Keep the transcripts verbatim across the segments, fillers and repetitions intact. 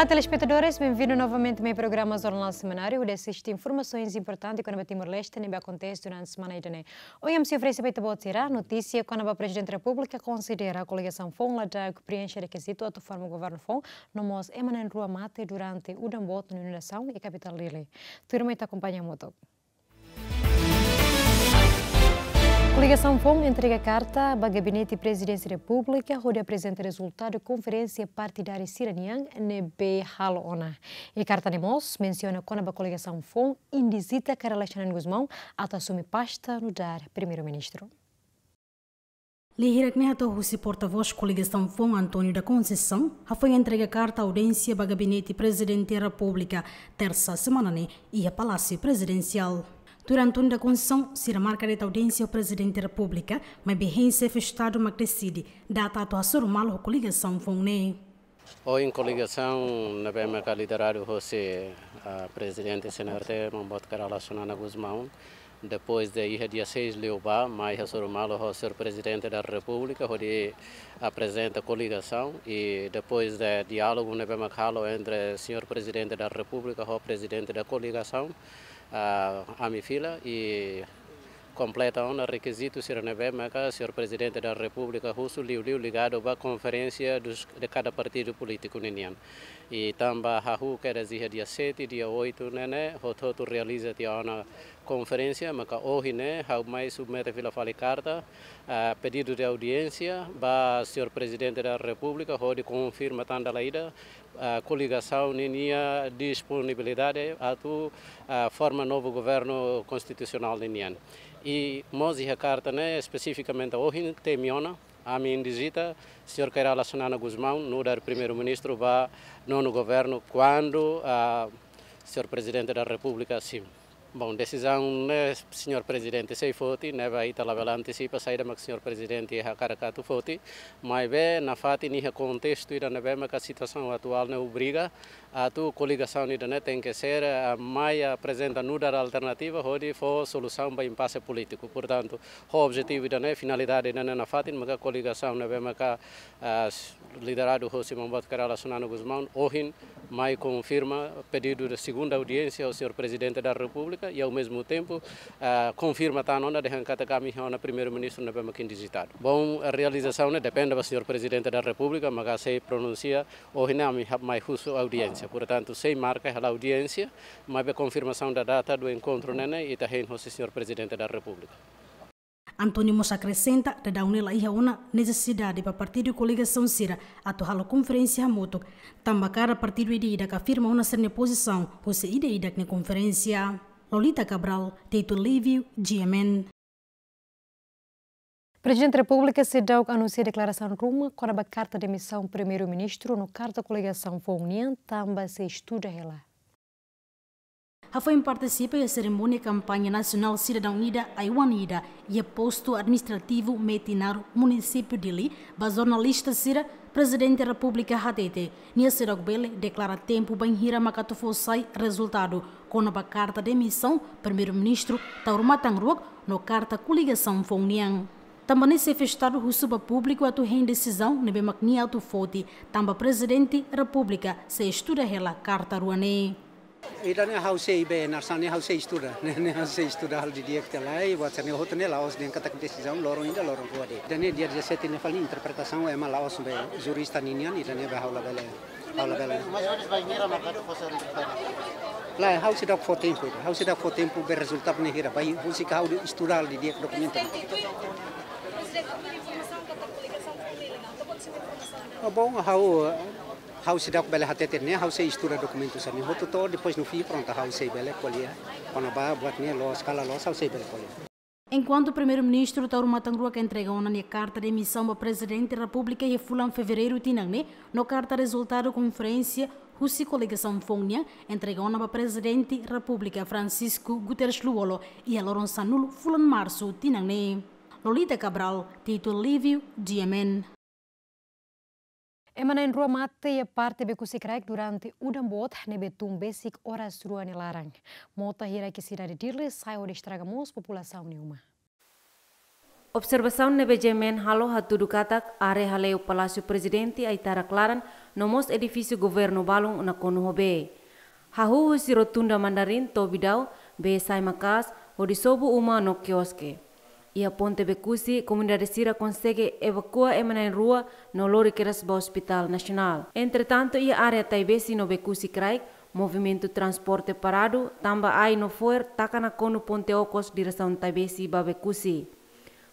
Olá, telespetadores, bem-vindo novamente ao meu programa Jornal Semanário, onde assiste informasaun importante kona-ba Timor-Leste ne'ebé akontese durante semana ida-ne'e. Ohin ami sei oferese ba ita-boot sira notísia kona-ba Prezidente Repúblika konsidera koligasaun foun la dauk preenxe rekizitu atu forma governu foun, no mós ema na'in-rua mate durante udan boot no inundasaun iha kapitál Dili. Tuirmai ita akompaña hamutuk. Koligasaun foun entrega karta ba Gabinete Prezidénsia Repúblika hodi aprezenta rezultadu konferénsia partidária sira-nian ne'ebé halo ona. I karta ne'e mós mensiona kona-ba koligasaun foun indisita Kay Rala Xanana Gusmão atu asume pasta nu'udar Primeiru-Ministru. Lia hirak ne'e hato'o husi portavós koligasaun foun António da Conceição, hafoin entrega karta audiénsia ba Gabinete Prezidente Repúblika, tersa semana ne'e, iha Palásiu Prezidensiál. Tuir António da Conceição, sira marka de'it audiénsia ho Prezidente Repúblika, maibé hein Xefe Estadu mak deside data atu hasoru malu ho koligasaun foun ne'e. Ohin koligasaun ne'ebé maka lideradu hosi, ah, Prezidente C N R T, Maun Boot Kay Rala Xanana Gusmão, depois de iha dia seis liubá, mai hasoru malu ho Señór Prezidente da Repúblika, hodi aprezenta koligasaun, i depois de diálogu ne'ebé maka halo entre Señór Prezidente da Repúblika ho Prezidente da Koligasaun, ah, ami fila, i kompleta ona rekizitu sira ne'ebé maka Señór Prezidente da Repúblika husu liuliu ligadu ba konferénsia dos, de kada partidu polítiku ninian. I tanba hahú kedas iha dia sete, dia oito ne'e ne'e, hotu-hotu realiza tiha ona konferénsia, maka ohin ne'e, ha'u mai submete fila fali karta, ah, pedidu de audiénsia ba Señór Prezidente da Repúblika, hodi konfirma tan dala ida, ah, koligasaun ninia disponibilidade atu, ah, forma novu governu konstitusionál ninian. I mós iha karta ne'e espesifikamente ohin temi ona, ami indisita Señór Kay Rala Xanana Gusmão nu'udar Primeiru-Ministru ba nonu governu kuandu, ah, Señór Prezidente da Repúblika simu. Bom, desizaun ne'e Señór Prezidente sei foti, ne'ebé ita labele antisipa saida mak Señór Prezidente hakarak atu foti, maibé nafatin iha kontestu ida ne'ebé maka situasaun atuál ne'e obriga atu koligasaun ida ne'e tenke ser, ah, mai aprezenta nu'udar alternativa hodi fó solusaun ba impase polítiku. Portantu, ho objetivu ida ne'e, finalidade ida ne'e nafatin maka koligasaun ne'ebé maka, ah, lideradu hosi Maun Boot Kay Rala Xanana Gusmão, ohin mai konfirma pedidu de segunda audiénsia ao Señór Prezidente da Repúblika i, ao mesmo tempo, ah, konfirma tan ona dehan katak ami iha ona Primeiru-Ministru ne'ebé maka indisitadu. Bom, realizasaun ne'e depende ba Señór Prezidente da Repúblika, maka sei pronunsia, ohin ne'e ami ha-, mai husu audiénsia. Portantu, sei marka hela audiénsia, maibé konfirmasaun da data do encontro ne'e ne'e, ita hein hosi Señór Prezidente da Repúblika. António mós akresenta, daudaun ne'e la iha ona nesesidade ba partidu koligasaun sira atu halo konferénsia hamutuk, tanba kada partidu ida-idak afirma ona sira-nia pozisaun husi ida-idak nia konferénsia. Lolita Cabral, Tito Lívio, G M N. Prezidente Repúblika seidauk anunsia deklarasaun ruma kona-ba karta demisaun Primeiru-Ministru no karta koligasaun foun nian, tanba sei estuda hela. Hafoin partisipa iha serimónia kampaña nasionál Sidadaun Ida, Ai-oan Ida, iha postu administrativu Metinaro, munisípiu Dili, ba jornalista sira, Prezidente Repúblika hatete, nia seidauk bele deklara tempu bainhira maka atu fó sai rezultadu kona-ba karta demisaun Primeiru-Ministru Taur Matan Ruak no karta koligasaun foun nian. Tanba ne'e Xefe Estadu husu ba públiku atu hein desizaun ne'ebé mak nia atu foti, tanba Prezidente Repúblika sei estuda hela karta rua ne'e. Ida-ne'e ha'u sei be, narsani ha'u sei estuda, ne'e, ne'e ha'u sei estuda halo didi'ak tiha lai, buat sira-ne'e hotu ne'e la'ós dehan katak desizaun loron ida, loron rua de'it. Ida-ne'e dia dezassete ne'e fali interpretasaun ema la'ós be jurista ninian, ida-ne'e be ha'u labele, ha'u labele. Mais ou menos bainhira maka atu fó sai rezultadu? Lae, ha'u seidauk fó tempu ida, ha'u seidauk fó tempu be rezultadu ne'e hira, bainhira husik ha'u estuda halo didi'ak dokumentu. Ah, bom, ha'u, ha'u seidauk bele hatete ne'e, ha'u sei estuda dokumentu sira-ne'e hotu to'o, depois no fim, prontu, ha'u sei bele ko'alia kona-ba buat ne'e loos ka la loos, ha'u sei bele ko'alia. Enkuantu Primeiru-Ministru Taur Matan Ruak entrega ona nia karta demisaun ba Prezidente Repúblika iha fulan Fevereiru tinan ne'e, no karta rezultadu konferénsia husi koligasaun foun nian entrega ona ba Prezidente Repúblika Francisco Guterres Lú-Olo iha loron sanulu fulan Marsu tinan ne'e. Lolita Cabral, Tito Lívio, G M N. Ema na'in-rua mate iha parte Beku Sikraik durante udan boot ne'ebé tun besik oras rua nia laran. Mota hirak iha sidade Dili sai hodi estraga mós populasaun nia uma. Observasaun ne'ebé G M N halo hatudu katak área hale'u Palásiu Prezidente, Aitarak Laran, no mós edifísiu governu balun nakonu ho bee. Hahú husi Rotunda Mandarin to'o Bidau, bee sai maka'as, hodi sobu uma no kioske. Iha ponte Bekusi, komunidade sira konsege evakua ema na'in rua no lori kedas ba Hospital Nasionál. Entretantu, iha área Taibesi no Bekusi kraik, movimentu transporte paradu, tanba ai no fo'er taka nakonu ponte okos diresaun Taibesi ba Bekusi.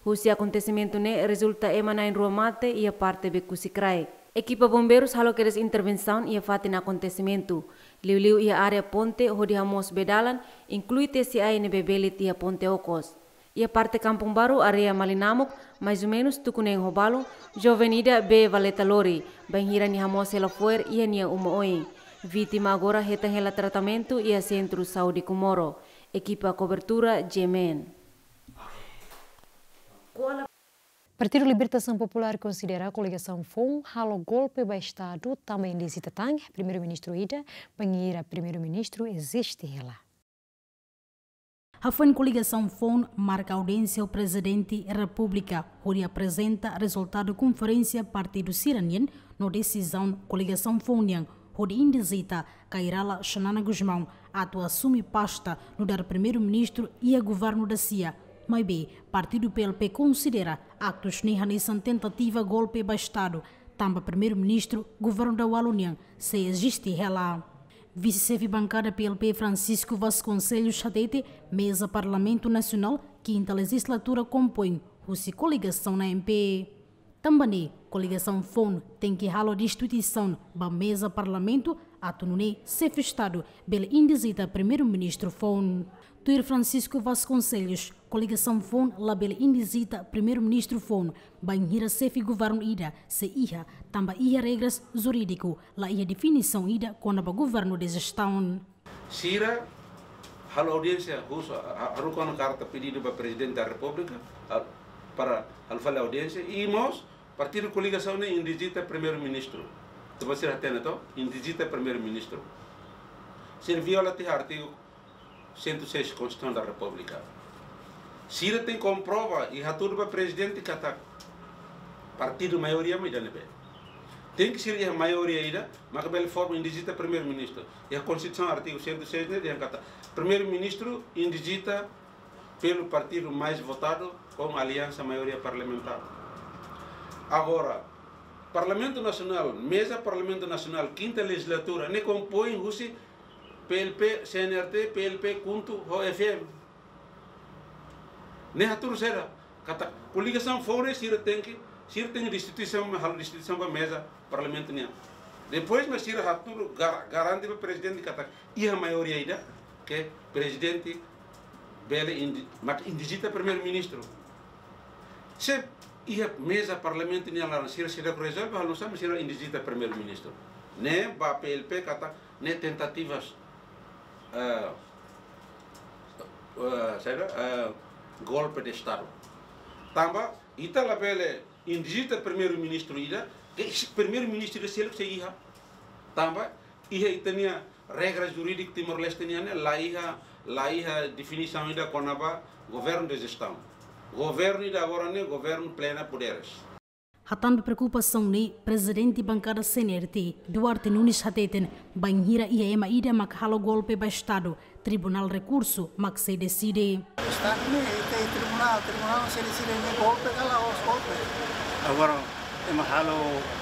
Husi akontesimentu ne'e rezulta ema na'in rua mate iha parte Bekusi kraik. Ekipa bombeirus halo kedas intervensaun iha fatin akontesimentu. Liuliu iha área ponte hodi hamoos bee dalan, inklui tesi ai ne'ebé belit iha ponte okos. Iha parte Kampung Baru, área Malinamuk, mais ou menus tuku neen ho balun, joven ida bee valeta lori, bainhira nia hamoos hela fo'er iha nia uma oin. Vítima agora hetan hela tratamentu iha Sentru Saúde Comoro. Ekipa kobertura G M N. Partidu Libertasaun Populár konsidera koligasaun foun halo golpe ba Estadu tanba indizita tan Primeiru-Ministru ida, bainhira Primeiru-Ministru eziste hela. Hafoin koligasaun foun marka audiénsia ho Prezidente Repúblika, hodi aprezenta rezultadu konferénsia partidu sira-nian no desizaun koligasaun foun nian, hodi indizita Kay Rala Xanana Gusmão atu asume pasta nu'udar Primeiru-Ministru iha governu dasia. Maibé, partidu P L P konsidera aktus ne'e hanesan tentativa golpe ba Estadu, tanba Primeiru-Ministru governu daualu nian sei eziste hela. Vise-xefe bankada P L P Francisco Vasconcelos hatete, meza Parlamentu Nasionál kinta lejizlatura kompoin husi koligasaun A M P. Tanba ne'e, koligasaun foun tenke halo destituisaun ba meza Parlamentu atu nune'e xefe Estadu bele indizita Primeiru-Ministru foun. Tuir Francisco Vasconcelos, koligasaun foun labele indizita Primeiru-Ministru foun, bainhira xefe governu ida sei iha, tanba iha regras jurídiku, la iha definisaun ida kona-ba governu de jestaun. Sira halo audiénsia, husu, ha-, haruka ona karta pedidu ba Prezidente da Repúblika, ha-, para halo fali audiénsia, i mós partidu koligasaun ne'e indizita Primeiru-Ministru. Tanba sira hatene to, indizita Primeiru-Ministru. Sira viola tiha artigu cento e seis Konstituisaun da Repúblika. Sira tenke komprova i hatudu ba Prezidente katak partidu maioria mak ida ne'ebé. Tenke sira iha maioria ida, maka bele forma indizita Primeiru-Ministru. Iha Konstituisaun artigu cento e seis ne'e dehan katak Primeiru-Ministru indizita pelo partido mais votado com aliança maioria parlamentar. Agora, Parlamentu Nasionál, meza Parlamentu Nasionál, kinta lejizlatura, ne'e kompoin husi P L P, C N R T, P L P KHUNTO ho F M. Ne'e hatudu sira katak koligasaun foun ne'e sira tenke, sira tenke destituisaun, halo destituisaun ba meza Parlamentu nian. Depois mak sira hatudu gar-, garante ba Prezidente katak iha maioria ida ke Prezidente bele indi-, mak indizita Primeiru-Ministru. Se iha meza Parlamentu nian laran sira seidauk rezolve, halo nu'usá mak sira indizita Primeiru-Ministru. Ne'e ba P L P katak ne'e tentativas, eh, eh, saida, eh, golpe de Estadu. Tanba ita labele indizita Primeiru-Ministru ida, ke Primeiru-Ministru ida seluk sei iha. Tanba iha ita-nia regra jurídiku Timor-Leste nian ne'e la iha, la iha definisaun ida kona-ba governu de jestaun. Governu ida agora ne'e governu plena poderes. Hatán ba preokupasaun ne'e, Prezidente Bankada C N R T, Duarte Nunes hateten, bainhira iha ema ida mak halo golpe ba Estadu, Tribunál Rekursu mak sei deside. Estadu ne'e, ita iha tribunál, tribunál sei deside ne'e golpe ka la'ós golpe. Agora, ema halo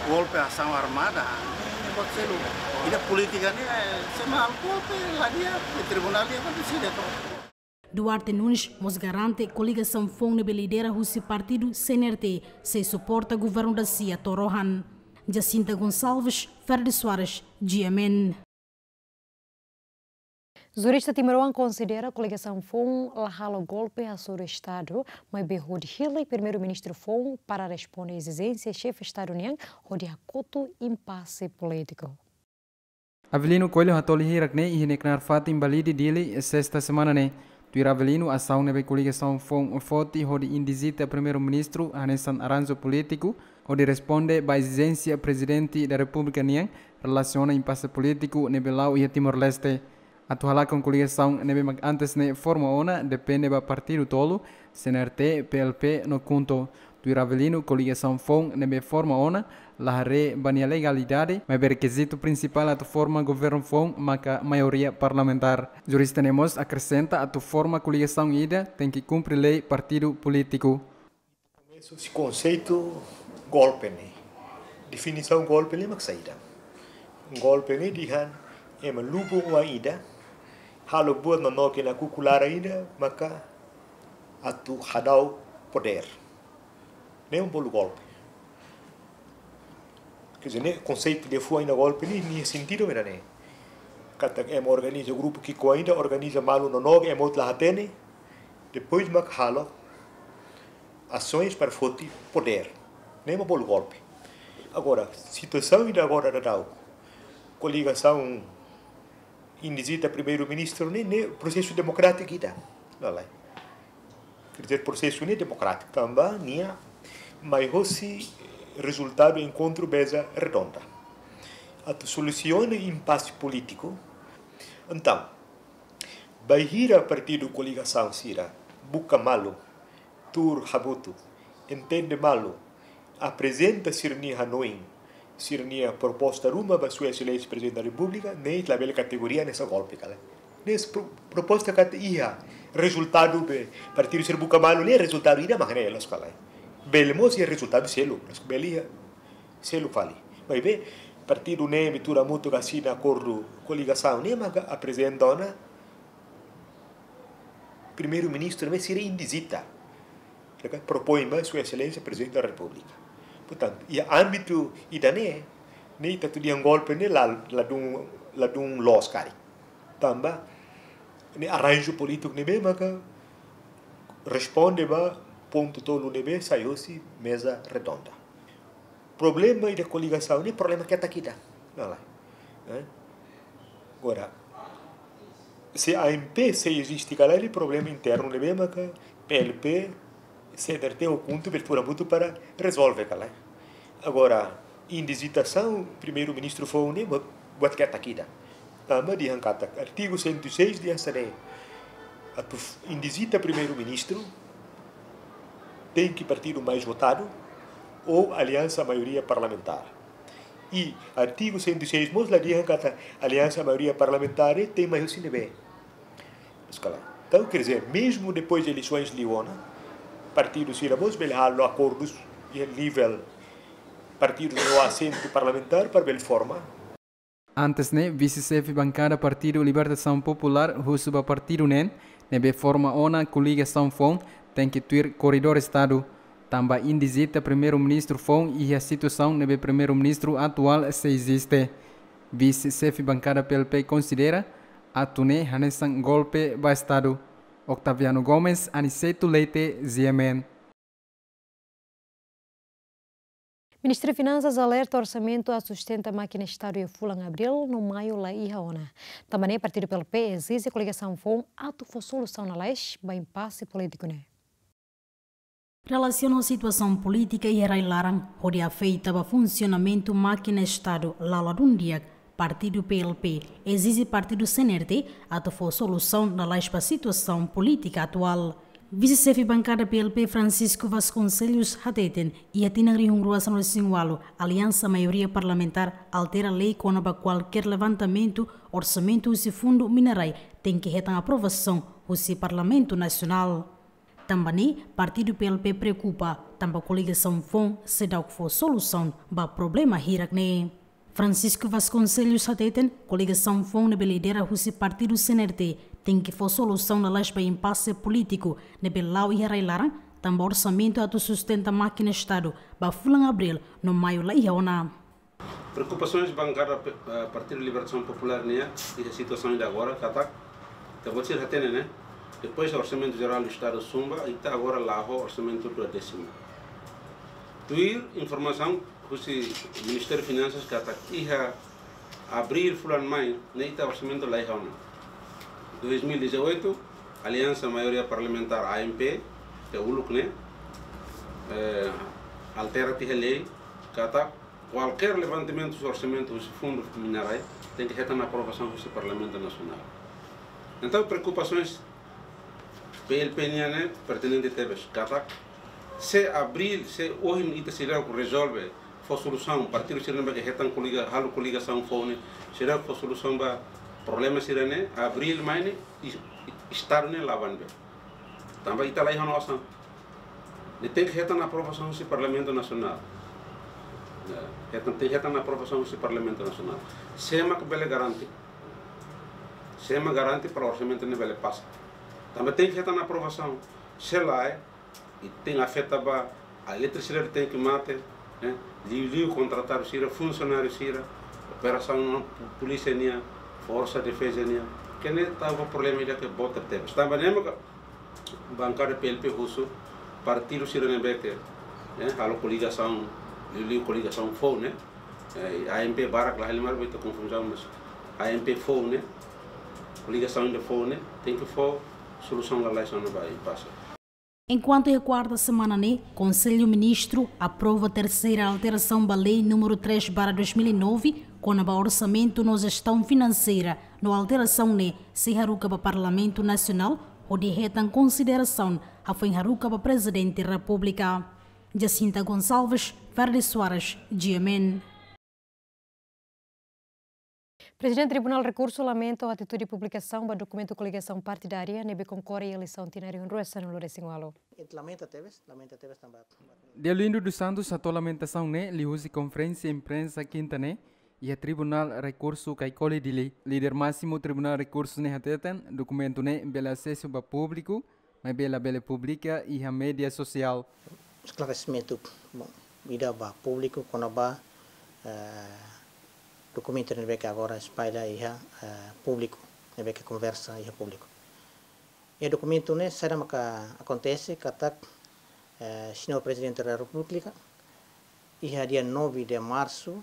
golpe asaun armada, ne'e, ne'e buat seluk. Ida polítika ne'e, eh, se ema halo golpe, la di'ak, iha tribunál ida mak deside to. Duarte Nunes mós garante koligasaun foun ne'ebé lidera husi partidu C N R T sei suporta governu dasia to'o rohan. Jacinta Gonçalves, Ferde Soares, G M N. Jurista timoroan konsidera koligasaun foun la halo golpe hasoru Estadu, maibé hodi hili Primeiru-Ministru foun para responde ezijénsia xefe Estadu nian hodi hakotu impase polítiku. Avelino Coelho hatoli hirak ne'e iha nia knaar fatin ba Lide, Dili, sesta semana ne'e. Tuir Avelino, asaun ne'ebé koligasaun foun foti hodi indizita Primeiru-Ministru hanesan arranju polítiku hodi responde ba ezijénsia Prezidente da Repúblika nian relasiona impase polítiku ne'ebé la'o iha Timor-Leste. Atu halakon koligasaun ne'ebé mak antes ne'e forma ona depende ba partidu tolu, C N R T, P L P no KHUNTO. Tuir Avelino, koligasaun foun ne'ebé forma ona la haree ba nia legalidade, maibé rekizitu prinsipál atu forma governu foun maka maioria parlamentár. Jurista ne'e mós akresenta atu forma koligasaun ida tenke kumpre lei partidu polítiku. Komesu husi konseitu golpe ne'e. Definisaun golpe ne'e mak saida? Golpe ne'e dehan ema lubun oan ida, halo buat nonook iha kuku laran ida, maka atu hadau podér. Ne'e mak bolu golpe. Quer dizer, ne'e konseitu ida foun iha golpe ne'e, nia sentidu mak ne'e. Katak ema organiza grupu ki'ikoan ida, organiza malu nonook, ema hotu la hatene, depois mak halo asaun para foti podér. Ne'e mak bolu golpe. Agora, situasaun ida agora daudaun, koligasaun indizita primeiru-ministru ne'e, ne'e prosesu demokrátiku ida. Lalai. Quer dizer, prosesu ne'e demokrátiku tanba nia mai hosi rezultadu enkontru meza redonda. Atu solusiona impase polítiku. Entaun, bainhira partidu koligasaun sira buka malu, tuur hamutuk, entende malu, aprezenta sira-nia hanoin, sira-nia proposta ruma ba Sua Exelénsia Prezidente da Repúblika, ne'e labele kategoria hanesan golpe ka lae. Ne'e pro-, proposta katak iha rezultadu be partidu sira buka malu ne'e rezultadu ida mak ne'e, loos ka lae. Bele mós iha rezultadu seluk, loos, bele iha seluk fali. Maibé partidu ne'ebé tuur hamutuk asina akordu koligasaun ne'e maka aprezenta ona primeiru-ministru ne'ebé sira indizita. Mereka propoin ba Sua Exelénsia Prezidente da Repúblika. Portantu, iha ámbitu ida-ne'e, ne'e ita atu dehan golpe ne'e la, ladún, ladún loos karik. Tanba ne'e arranju polítiku ne'ebé maka responde ba pontu tolu ne'ebé sai hosi meza redonda. Problema ida koligasaun ne'e problema ketak ida. Lalai. Eh? Agora, se A M P sei eziste ka lae, ne'e problema internu ne'ebé maka P L P, C N R T ou KHUNTO bele tuur hamutuk para rezolve ka lae. Agora, indizitasaun primeiru-ministru foun ne'e buat, buat ketak ida. Tanba dehan katak artigu cento e seis dehan hanesan ne'e: atu f-, indizita primeiru-ministru, tenke partidu mais votadu ou aliansa maioria parlamentár. I artigu cento e seis mós la dehan katak aliansa maioria parlamentár ne'e tenke mai husi ne'ebé. Loos ka lae. Entaun, quer dizer, mesmu depois de eleisoens liu ona, partidu sira mós bele halo akordus iha nivel partidu no asentu parlamentár para bele forma. Antes ne'e, vise-xefe bankada Partidu Libertasaun Populár husu ba partidu neen ne'ebé forma ona koligasaun foun tenke tuir koridór Estadu, tanba indizita primeiru-ministru foun iha situasaun ne'ebé primeiru-ministru atuál sei eziste. Vise-xefe bankada P L P konsidera atu ne'e hanesan golpe ba Estadu. Octaviano Gomes, Aniceto Leite, G M N. Ministériu Finansas alerta orsamentu atu sustenta mákina Estadu iha fulan Abríl no Maiu la iha ona. Tanba ne'e partidu P L P ezije koligasaun foun atu fó solusaun lalais ba impase polítiku ne'e. Relasiona situasaun polítika iha rai-laran hodi afeta ba funsionamentu mákina Estadu la ladún di'ak, partidu P L P ezije partidu C N R T atu fó solusaun lalais ba situasaun polítika atuál. Vise-xefe bankada P L P Francisco Vasconcelos hateten, iha tinan rihun rua sanulu-resin-ualu, aliansa maioria parlamentár altera lei kona-ba kualkér levantamentu orsamentu husi fundu mina-rai tenke hetan aprovasaun husi Parlamentu Nasionál. Tanba ne'e, partidu P L P preokupa, tanba koligasaun foun seidauk fó solusaun ba problema hirak ne'e. Francisco Vasconcelos hateten, koligasaun foun ne'ebé lidera husi partidu C N R T tenke fó solusaun lalais ba impase polítiku ne'ebé la'o iha rai-laran, tanba orsamentu atu sustenta mákina Estadu ba fulan Abríl no Maiu la iha ona. Preokupasoens bankada pe-, eh, Partidu Libertasaun Populár nian iha situasaun ida agora, katak, ita-boot sira hatene, ne'e? Depois Orsamentu Jerál do Estadu zumba, ita agora la ho orsamentu duadésimu. Tuir informasaun husi Ministériu Finansas katak iha Abríl fulan mai ne'e ita orsamentu la iha ona. Dois mil e dezoito, aliansa maioria parlamentár A M P, ke uluk ne'e, eh, altera tiha lei, katak kualkér levantamentu husi orsamentu husi fundu mina-rai tenke hetan aprovasaun husi Parlamentu Nasionál. Entaun preokupasaun PLP nian ne'e pertinente tebes. Katak se abríl, se ohin ita seidauk rezolve, fó solusaun, partidu sira ne'ebé ke hetan koliga, halo koligasaun foun ne'e, seidauk fó solusaun ba problema sira-ne'e, abríl mai ne'e, es-, Estadu ne'e la bá ne'ebé. Tanba ita la iha ona osan. Ne'e tenke hetan aprovasaun husi Parlamentu Nasionál. Ya, hetan, tenke hetan aprovasaun husi Parlamentu Nasionál. Sé mak bele garante. Sé mak garante para orsamentu ne'e bele pasa. Tanba tenke hetan aprovasaun. Se lae, i tenke afeta ba eletrisidade tenke mate, eh, liuliu kontratadu sira, funsionáriu sira, operasaun pu-, polísia nian, forsa defeza nian, ke ne'e tau ba problema ida ke boot tebes. Tanba ne'e maka bankada PLP husu partidu sira ne'ebé ke, eh, halo koligasaun, liuliu koligasaun foun ne'e, eh, AMP barak la halimar beta konfuzaun, mas AMP foun ne'e, koligasaun ida foun ne'e, tenke fó solusaun lalais ona ba impasse. Enkuantu iha kuarta semana ne'e, Konsellu Ministru aprova terseira alterasaun ba Lei número três barra dois mil e nove, kona-ba orsamentu no jestaun finanseira, no alterasaun ne'e sei haruka ba Parlamentu Nasionál, hodi hetan konsiderasaun, hafoin haruka ba Prezidente Repúblika. Jacinta Gonçalves, Verde Soares, G M N. Prezidente Tribunál Rekursu lamenta atitude publikasaun ba dokumentu koligasaun partidária ne'ebé konkorre eleisaun tinan rihun rua sanulu-resin-ualu. Ita lamenta tebes, lamenta tebes tanba. Deolindo dos Santos hato'o lamentasaun ne'e liuhusi konferénsia imprensa kinta ne'e iha Tribunál Rekursu Caicoli, Dili. Líder másimu Tribunál Rekursu ne'e hateten dokumentu ne'e bele asesu ba públiku, maibé labele publika iha média sosiál. Esklaresimentu, bom, ida ba públiku kona-ba, eh, dokumentu ne'ebé ke agora espalla iha, eh, públiku, ne'ebé ke konversa iha públiku. Iha dokumentu ne'e saida maka akontese katak, eh, Señór Prezidente da Repúblika, iha dia nove de março,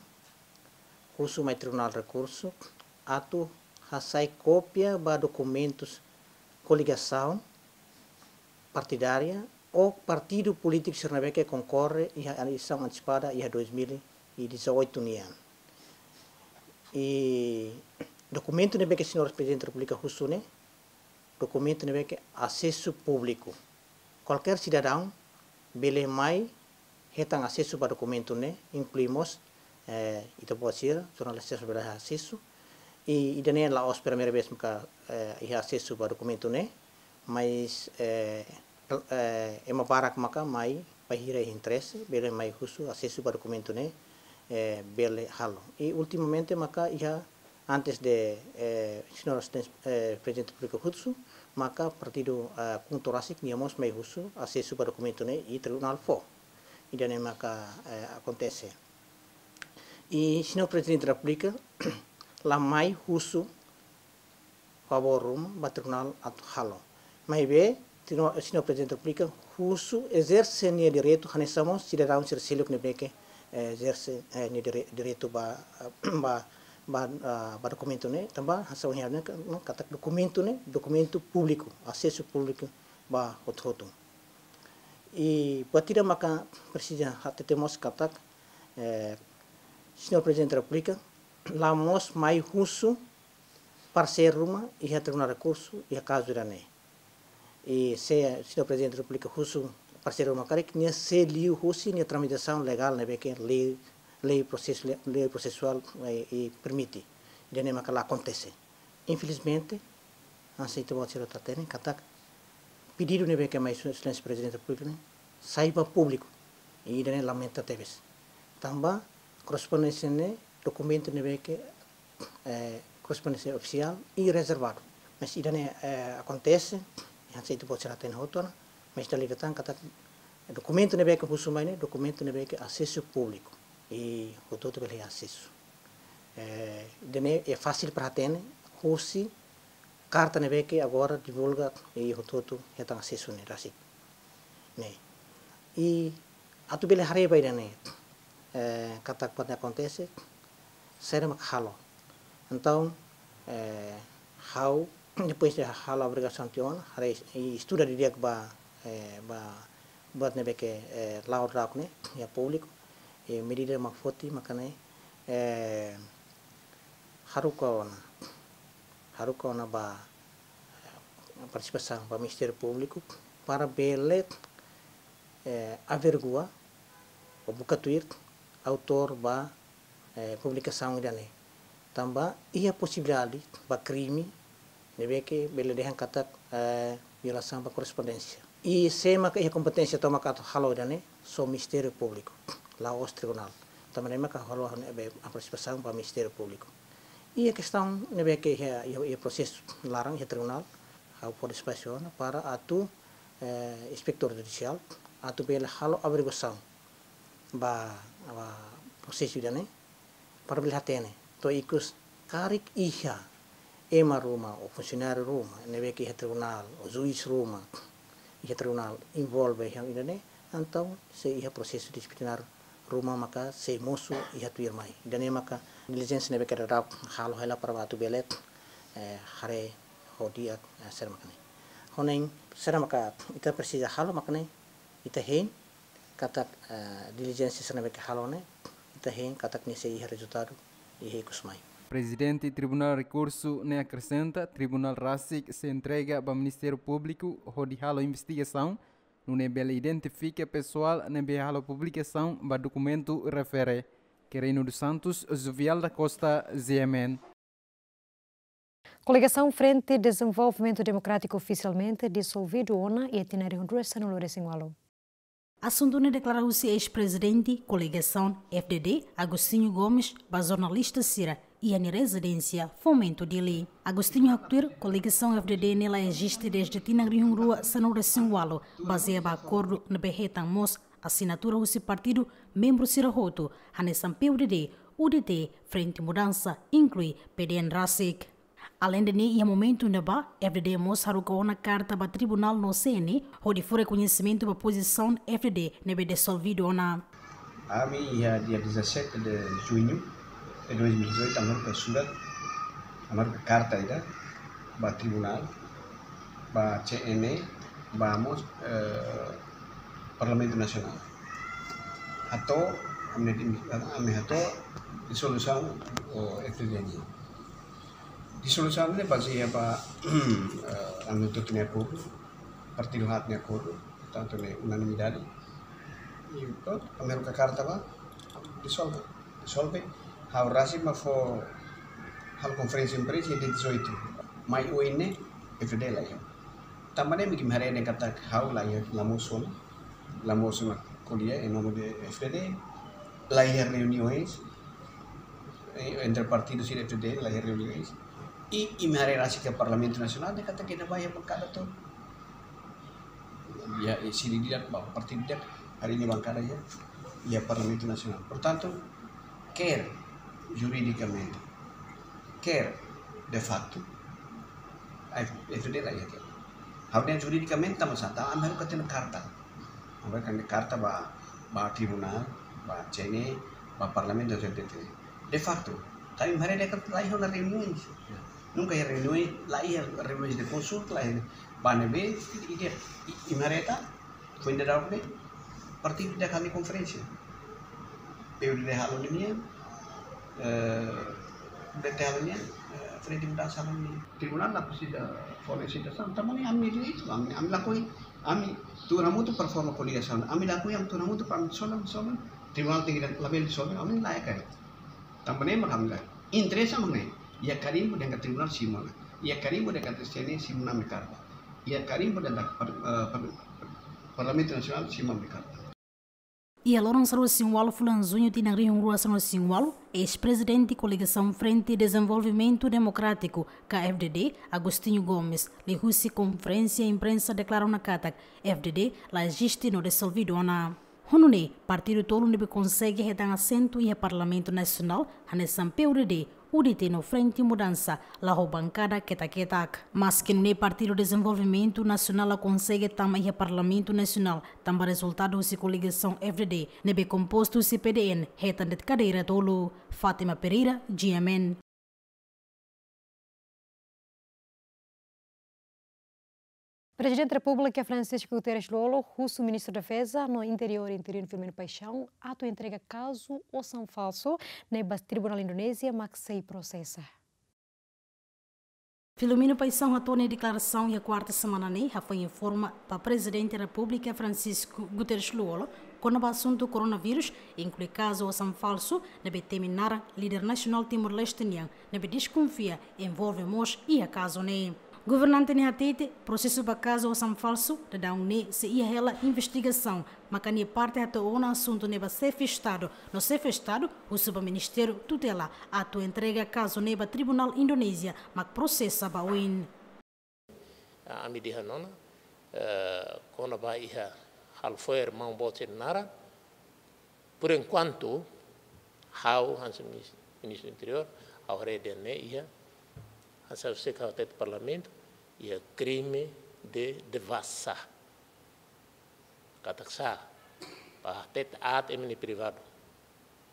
husu mai Tribunál Rekursu atu hasai kópia ba dokumentus koligasaun partidária ou partidu polítiku sira ne'ebé ke konkorre iha eleisaun antesipada iha dois mil e dezoito nian. I dokumentu ne'ebé ke Señór Prezidente Repúblika husu ne'e, dokumentu ne'ebé ke asesu públiku. Kualkér sidadaun bele mai hetan asesu ba dokumentu ne'e, inklui mós, eh, ita-boot sira, jornalista sira bele asesu. I ida-ne'e la'ós primeira vez maka, eh, iha asesu ba dokumentu ne'e, mas, eh, eh, ema barak maka mai bainhira iha interese, bele mai husu asesu ba dokumentu ne'e, eh, bele halo. I ultimamente maka iha antes de, eh, Señór Asisten-, eh, Prezidente Repúblika husu, maka partidu, eh, KHUNTO rasik nia mós mai husu asesu ba dokumentu ne'e i tribunál fó. Ida-ne'e maka, eh, akontese. I Señór Prezidente Repúblika la mai husu favór ruma ba tribunál atu halo. Maibé, Señór, Señór Prezidente Repúblika husu ezerse nia direitu, hanesan mós sidadaun sira seluk ne'ebé ke, eh, ezerse, eh, nia dire-, direitu ba, ba, ba, ah, ba dokumentu ne'e, tanba hanesan ohin ha'u dehan katak dokumentu ne'e, dokumentu públiku, asesu públiku ba hotu-hotu. I buat ida maka presiza hatete mós katak, eh, Señór Prezidente Repúblika la mós mai husu parseiru ruma iha Tribunál Rekursu iha kazu ida-ne'e. I se Señór Prezidente Repúblika husu parseiru ruma karik, nia sei liu husi nia tramitasaun legál ne'ebé ke lei, lei prosesu-, lei prosesuál, eh, i permite. Ida-ne'e maka la akontese. Infelizmente, hanesan ita-boot sira hatene katak pedidu ne'ebé ke mai Sua Exelénsia Prezidente Repúblika ne'e sai ba públiku. I ida-ne'e lamenta tebes. Tanba korrespondénsia ne'e dokumentu ne'ebé ke, eh, korrespondénsia ofisiál i rezervadu. Mas ida-ne'e, eh, akontese, hanesan ita-boot sira hatene hotu ona, mas ita liga tan katak dokumentu ne'ebé ke husu mai ne'e, dokumentu ne'ebé ke asesu públiku. I hotu-hotu bele asesu. Eh, ida-ne'e fasil para hatene, husi karta ne'ebé ke agora divulga i hotu-hotu hetan asesu ne'e rasik. Ne'e. I atu bele haree ba ida-ne'e, eh, katak buat ne'e akontese, saida mak halo. Entaun, eh, ha'u, depois de halo averiguasaun tiha ona, haree i estuda didi'ak ba, eh, ba, buat ne'ebé ke, eh, la'o daudaun ne'e, iha públiku, i medida mak foti, maka ne'e, eh, haruka ona, haruka ona ba, partisipasaun ba Ministériu Públiku para bele, eh, averigua ou buka tuir autór ba, eh, publikasaun ida-ne'e. Tanba iha posibilidade ba krime ne'ebé ke bele dehan katak, eh, violasaun ba korrespondénsia. I sé maka iha kompeténsia tomak atu halo ida-ne'e, só Ministériu Públiku, la'ós tribunál. Tanba ne'e maka halo ne'ebé ha'u-nia partisipasaun ba Ministériu Públiku. Iha kestaun ne'ebé ke iha, iha, iha prosesu laran iha tribunál, ha'u fó despaxu ona para atu, eh, inspetór judisiál atu bele halo averiguasaun ba, ba prosesu ida-ne'e, para bele hatene to'o ikus karik iha ema ruma ou funsionáriu ruma ne'ebé ke iha tribunál ou juís ruma iha tribunál envolve iha ida-ne'e, entaun sei iha prosesu disiplinar ruma maka sei mosu iha tuirmai. Ida-ne'e maka dilijénsia ne'ebé ke daudaun halo hela para atu bele, eh, haree ho di'ak, eh, saida maka ne'e. Ho ne'e saida maka ita presiza halo maka ne'e, ita hein katak, eh, dilijénsia sira ne'ebé ke halo ne'e, ita hein katak nia sei iha rezultadu iha ikus mai. Prezidente Tribunál Rekursu ne'e akresenta, tribunál rasik sei entrega ba Ministériu Públiku hodi halo investigasaun, nune'e bele identifika pesoál ne'ebé halo publikasaun ba dokumentu refere. Querino dos Santos, Jovial da Costa, G M N. Koligasaun Frente Dezenvolvimentu Demokrátiku ofisialmente disolvidu ona iha tinan rihun rua sanulu-resin-ualu. Asuntu ne'e deklara husi eis-prezidente koligasaun F D D, Agostinho Gomes, ba jornalista sira iha nia rezidénsia Fomento, Dili. Agostinho haktuir, koligasaun F D D ne'e la eziste dezde tinan rihun rua sanulu-resin-ualu, bazeia ba akordu ne'ebé hetan mós asinatura husi partidu membru sira hotu, hanesan P U D D, U D T, Frente Mudansa, inklui P D N rasik. Aleinde ne'e, iha momentu ne'ebá, F D D mós haruka ona karta ba tribunál no C N E, hodi fó rekoñesimentu ba pozisaun F D D ne'ebé disolvidu ona. Ami iha dia dezassete de junho de dois mil e dezoito, ami haruka surat, ami haruka karta ida ba tribunál, ba C N E, ba mós, eh, Parlamentu Nasionál. Hato'o, ami, ami hato'o disolusaun F D D nian. Disolusaun ne'e bazeia ba, eh, ami hotu nia akordu, partidu haat nia akordu, portantu ne'e unanimidade. I prontu, ami haruka karta ba, disolve, disolve. Ha'u rasik mak fó halo konferénsia imprensa dia dezoito. Mai oin ne'e, F D D la iha. Tanba ne'e mak imi haree dehan katak ha'u la iha, la mosu ona, la mosu ona ko'alia em nome de F D D, la iha reuniões, eh, entre partidu sira F D D, la iha reuniões. I, imi haree rasik iha Parlamentu Nasionál, dehan katak ita ba iha bankada to'o. Iha, eh, sira ida ba partidu ida, haree nia bankada iha, iha Parlamentu Nasionál. Portantu, quer juridicamente, quer de facto, F D D la iha. Ha'u dehan juridicamente tanba sá, tanba ami haruka tiha ona karta. Ami haruka karta ba, ba tribunál, ba C N E, ba Parlamentu Nasionál. De facto, tanba imi haree dehan katak la iha ona reuniões. Nunka iha reuniões, la iha reuniões de consulta, la iha. Ba ne'ebé, i, i, i, imi haree katak foin daudaun ne'e, partidu ida halo konferénsia. P U D D halo nian, eh, U D T halo nian, eh, Frente Mudansa halo nian. Tribunál la presiza fó sitasaun, tanba ne'e ami dehan, ami, ami lakohi, ami tuur hamutuk para forma koligasaun, ami lakohi, ami tuur hamutuk para ami sola, sola, tribunál tenke labele disolve, ami la iha karik. Tanba ne'e mak ami la. Interesa mak ne'e. Iha karimbu dehan katak tribunál simu ona. Iha karimbu dehan katak C N E simu ona ami-nia karta. Iha karimbu dehan katak par-, eh, par-, Parlamentu Nasionál simu ona ami-nia karta. Iha loron sanulu-resin-ualu fulan Juñu tinan rihun rua sanulu-resin-ualu, eis-prezidente koligasaun Frente Dezenvolvimentu Demokrátiku, ka F D D, Agostinho Gomes, liuhusi konferénsia imprensa deklara ona katak F D D la eziste no disolvidu ona. Ho nune'e, partidu tolu ne'ebé konsege hetan asentu iha Parlamentu Nasionál, hanesan P U D D, U D T no Frente Mudansa, la ho bankada ketak-ketak. Maski nune'e, Partidu Dezenvolvimentu Nasionál la konsege tama iha Parlamentu Nasionál, tanba rezultadu husi koligasaun F D D, ne'ebé kompostu husi P D N, hetan de'it kadeira tolu. Fátima Pereira, G M N. Prezidente Repúblika Francisco Guterres Lú-Olo husu Ministru Defeza no Interiór interinu Filomeno Paixão atu entrega kazu osan falsu ne'e ba Tribunál Indonézia mak sei prosesa. Filomeno Paixão hato'o nia deklarasaun iha kuarta semana ne'e, hafoin informa ba Prezidente Repúblika Francisco Guterres Lú-Olo kona-ba asuntu koronavírus, inklui kazu osan falsu ne'ebé temi naran líder nasionál Timor-Leste nian, ne'ebé deskonfia envolve mós iha kazu ne'e. Governante ne'e hatete, prosesu ba kazu osan falsu daudaun ne'e sei iha hela investigasaun, maka nia parte hato'o ona asuntu ne'e ba xefe Estadu, no xefe Estadu husu ba ministériu tutela atu entrega kazu ne'e ba tribunál Indonézia mak prosesa ba oin. Ami dehan ona, eh, kona-ba iha halo fo'er maun boot sira-nia naran, por enquanto, ha'u hanesan minis-, ministru Interiór, ha'u haree dehan ne'e iha, hanesan ha'u hatete iha Parlamentu, iha krime de devassa. Katak sá, ba hatete aat ema nia privadu,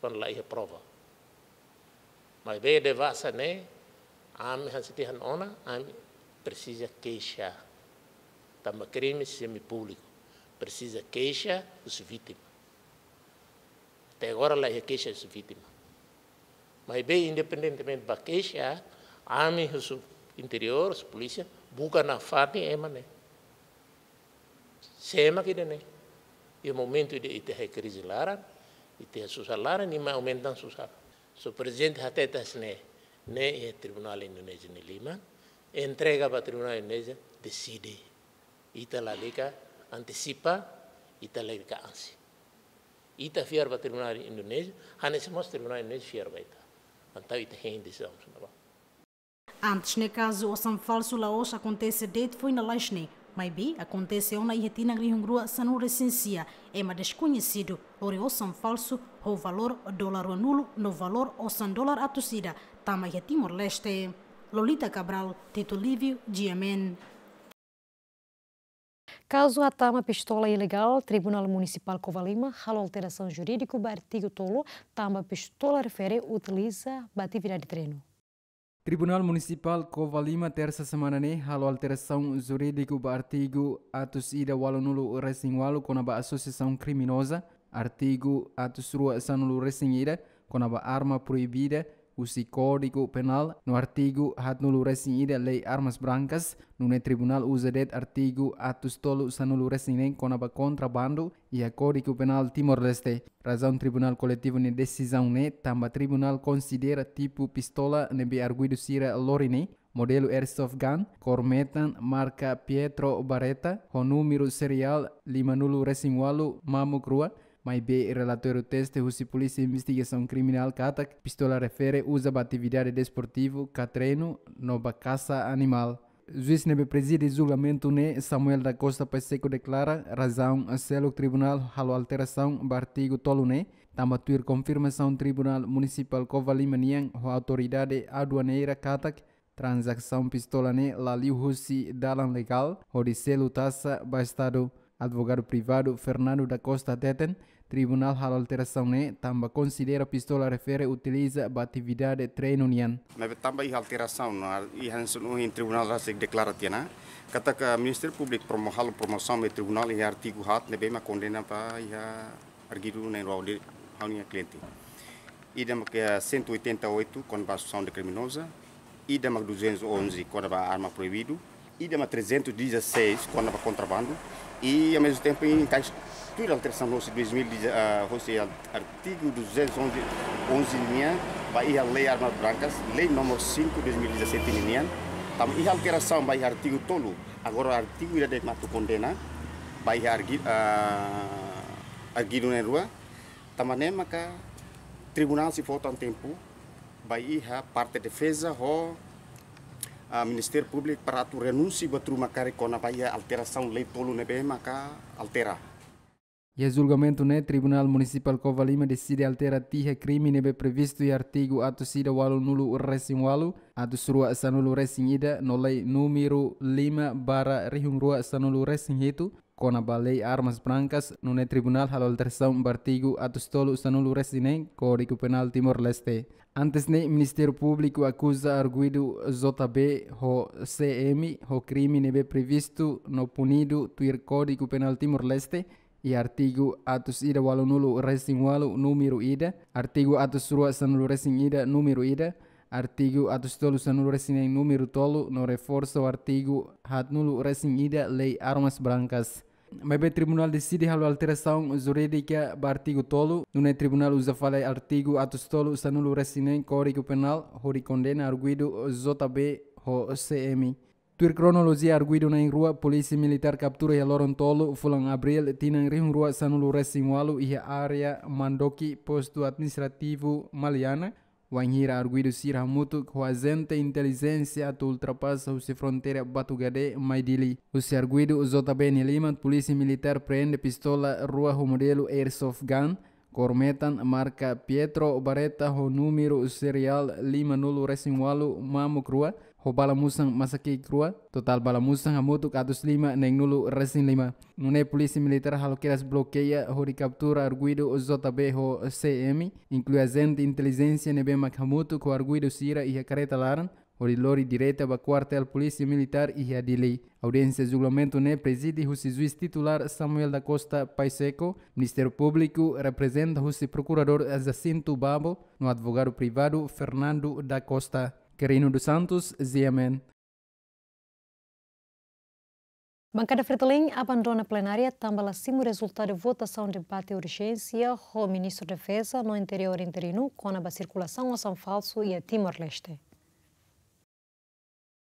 kuandu la iha prova. Maibé devassa ne'e, ami hanesan dehan ona, ami presiza keixa. Tanba krime semi-públiku, presiza keixa husi vítima. Até agora la iha keixa husi vítima. Maibé independentemente ba keixa, ami husi Interiór, husi polísia, buka nafatin ema ne'e. Sé mak ida-ne'e? Iha momentu ida ita iha krize laran, ita iha susar laran, nia mai aumenta susar. Só Prezidente hatete hanesan ne'e, ne'e iha tribunál Indonézia nia liman, entrega ba tribunál Indonézia, deside. Ita lalika antesipa, ita lalika ansi. Ita fiar ba tribunál Indonézia, hanesan mós tribunál Indonézia fiar ba ita. Entaun ita hein desizaun sira-ne'ebá. Antes ne'e kazu osan falsu la'ós akontese de'it foin lalais ne'e, maibé akontese ona iha tinan rihun rua sanulu-resin-sia, ema deskoñesidu lori osan falsu ho valór dolar ruanulu no valór osan dolar atus ida tama iha Timor-Leste. Lolita Cabral, Tito Lívio, G M N. Kazu hatama pistola ilegál, Tribunál Munisipál Covalima halo alterasaun jurídiku ba artigu tolu, tanba pistola refere utiliza ba atividade treinu. Tribunál Munisipál Covalima, tersa semana ne'e, halo alterasaun jurídiku ba artigu atus ida ualunulu-resin-ualu kona-ba asosiasaun kriminoza, artigu atus rua sanulu-resin-ida kona-ba arma proibida husi Kódigu Penál, no artigu haatnulu-resin-ida Lei Armas Brancas, nune'e tribunál uza de'it artigu atus tolu sanulu-resin-neen kona-ba kontrabandu iha Kódigu Penál Timor-Leste. Razaun Tribunál Koletivu nia desizaun ne'e tanba tribunál konsidera tipu pistola ne'ebé arguidu sira lori ne'e, modelu airsoft gun, kór metan, marka Pietro Barretta, ho númeru seriál limanulu-resin-ualu mamuk rua, maibé relatóriu teste husi Polísia Investigasaun Kriminál katak pistola refere uza ba atividade desportivu ka treinu no ba kasa animál. Juís ne'ebé prezide julgamentu ne'e, Samuel da Costa Pacheco, deklara razaun seluk tribunál halo alterasaun ba artigu tolu ne'e, tanba tuir konfirmasaun Tribunál Munisipál Covalima nian ho autoridade aduaneira katak tranzasaun pistola ne'e la liu husi dalan legál hodi selu taxa ba Estadu. Advogadu privadu Fernando da Costa hateten, tribunál halo alterasaun ne'e tanba konsidera pistola refere utiliza ba atividade treinu nian. Maibé tanba iha alterasaun, no iha hanesan ohin tribunál rasik deklara tiha ona katak Ministériu Públiku promo-, halo promosaun ba tribunál iha artigu haat ne'ebé mak kondena ba iha arguidu na'in-rua hodi ha'u-nia kliente. Ida mak, eh, cento e oitenta e oito, kona-ba asosiasaun de kriminoza, ida mak duzentos e onze, kona-ba arma proibidu, ida mak trezentos e dezasseis, kona-ba kontrabandu, i, ao mesmo tempo, enkaixa tuir alterasaun hosi dois mil e dez, ah, hosi al-, artigu duzentos e onze, onze nian, ba iha Lei Armas Brancas, Lei número cinco, dois mil e dezassete nian, tanba iha alterasaun ba iha artigu tolu, agora artigu ida de'it mak atu kondena, ba iha argi-, ah, arguidu na'in-rua, tanba ne'e maka tribunál sei fó tan tempu ba iha parte defeza ho, ah, Ministériu Públiku para atu renunsia buat ruma karik kona-ba iha alterasaun lei tolu ne'ebé maka altera. Iha julgamentu ne'e, Tribunál Munisipál Covalima deside altera tiha krime ne'ebé previstu iha artigu atus ida ualunulu-resin-ualu, atus rua sanulu-resin-ida no Lei númeru lima barra rihun rua sanulu-resin-hitu, kona-ba Lei Armas Brancas, nune'e tribunál halo alterasaun ba artigu atus tolu sanulu-resin-neen Kódigu Penál Timor-Leste. Antes ne'e, Ministériu Públiku akuza arguidu J B ho C M ho krime ne'ebé previstu no punidu tuir Kódigu Penál Timor-Leste, iha artigu atus ida ualunulu-resin-ualu númeru ida, artigu atus rua sanulu-resin-ida númeru ida, artigu atus tolu sanulu resin neen númeru tolu no reforsa ho artigu haatnulu resin ida Lei Armas Brancas. Maibé Tribunál deside halo alterasaun jurídika ba artigu tolu, nune'e Tribunál uza fali artigu atus tolu sanulu resin neen Kódigu Penál hodi kondena arguidu J B ho C M. Tuir kronolojia, arguidu na'in-rua Polísia Militár kaptura iha loron tolu fulan Abríl tinan rihun rua sanulu resin walu iha área Mandoki, Postu Administrativu Maliana, wainhira arguidu sira hamutuk ho ajente intelijénsia atu ultrapasa husi fronteira Batugade mai Dili. Husi arguidu J B nia liman, Polísia Militár preende pistola rua ho modelu airsoft gun, kór metan, marka Pietro Barretta ho númeru seriál lima nulu resin walu mamuk rua, ho bala musan masaki'ik rua, totál bala musan hamutuk atus lima neen nulu resin lima. Nune'e Polísia Militár halo kedas blokeia hodi kaptura arguidu J B ho C M, inklui ajente intelijénsia ne'ebé mak hamutuk ho arguidu sira iha karreta laran, hodi lori direta ba Kuartél Polísia Militár iha Dili. Audiénsia julgamentu ne'e prezide husi juís titulár Samuel da Costa Pacheco, Ministériu Públiku reprezenta husi Prokuradór Jacinto Babo no advogadu privadu Fernando da Costa. Quirino dos Santos, G M N. Bankada Fretilin abandona plenária tanba la simu rezultadu votasaun debate urjénsia ho Ministru Defeza no Interiór interinu kona-ba sirkulasaun osan falsu iha Timor-Leste.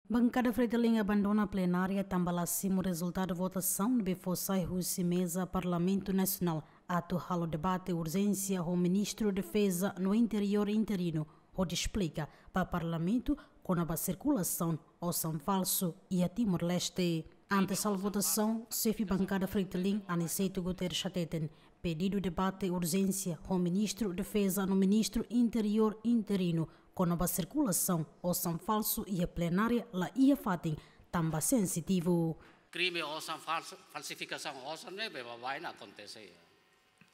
Bankada Fretilin abandona plenária tanba la simu rezultadu votasaun ne'ebé fó sai husi meza Parlamentu Nasionál atu halo debate urjénsia ho Ministru Defeza no Interiór interinu hodi esplika ba Parlamentu kona-ba sirkulasaun osan falsu iha Timor-Leste. Antes halo votasaun, Xefe Bankada Fretilin, Aniceto Guterres, hateten pedidu debate urjénsia ho Ministru Defeza no Ministru Interiór interinu kona-ba sirkulasaun osan falsu iha plenária la iha fatin tanba sensitivu. Krime osan falsu, falsifikasaun osan ne'e baibain akontese iha,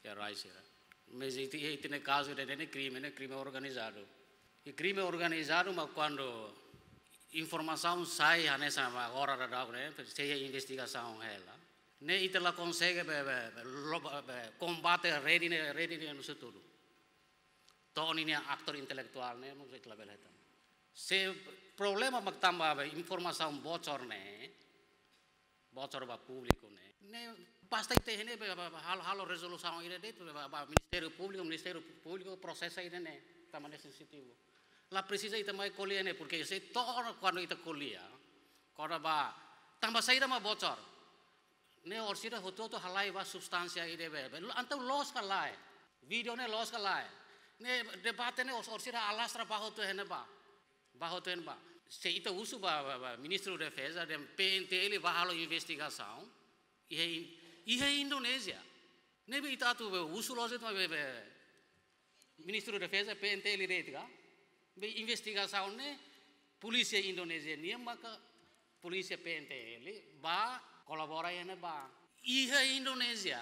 iha rai sira. Mas ita, ita-nia kazu ida-ne'e krime, ne'e krime organizadu. I krime organizadu mak kuandu informasaun sai hanesan mak agora daudaun ne'e, sei investigasaun hela. Ne'e ita la konsege be, be, be, lo-, be, be, kombate rede ne'e, rede ne'e no setor. To'o ninia aktor intelektuál ne'e, mós ita labele hetan. Se problema mak tanba be informasaun bocor ne'e, bocor ba públiku ne'e. Ne'e basta ita iha ne'e be, be, be, halo, halo rezolusaun ida de'it, be, be, ba Ministériu Públiku, Ministériu Públiku prosesa ida-ne'e, tanba ne'e sensitivu. La presiza ita mai ko'alia ne'e, porke se to'o kuandu ita ko'alia, kona-ba, tanba saida mak bocor. Ne'e orsida hotu-hotu halai ba substánsia ida be, be. Entaun loos ka lae. Vídeo ne'e loos ka lae. Ne'e debate ne'e os-, orsida alastra ba hotu iha ne'ebá. Ba hotu iha ne'ebá. Se ita husu ba, ba, ba Ministru Defeza dehan P N T L bá halo investigasaun iha In-, iha Indonézia. Ne'ebé ita atu be husu loos ita be, be Ministru Defeza P N T L de'it ka? Be investigasaun ne'e polísia Indonézia nian maka polísia P N T L bá kolabora iha ne'ebá. Iha Indonézia.